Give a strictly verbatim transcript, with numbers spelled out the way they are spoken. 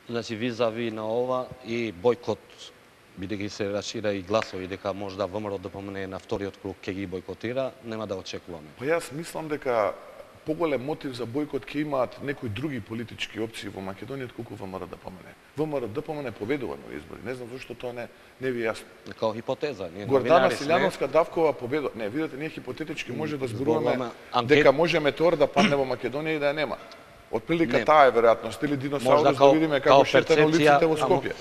Значи, визави на ова и бојкот, бидејќи се расшира и гласови дека можда ВМРО да помине на вториот круг ќе ги бојкотира, нема да очекуваме. Па јас мислам дека поголем мотив за бојкот ќе имаат некои други политички опции во Македонија колку ВМРО да помине. ВМРО да помине победува на избори. Не знам зашто тоа не не ви е јасно. Као хипотеза, ние Гордана Силјановска Давкова победува. Не, видете, ние хипотетички може да зборуваме анкет... дека може метеор да падне во Македонија и да ја нема. Од прилика таа е веројатност или диносаурус да видиме како шета на улиците во Скопје.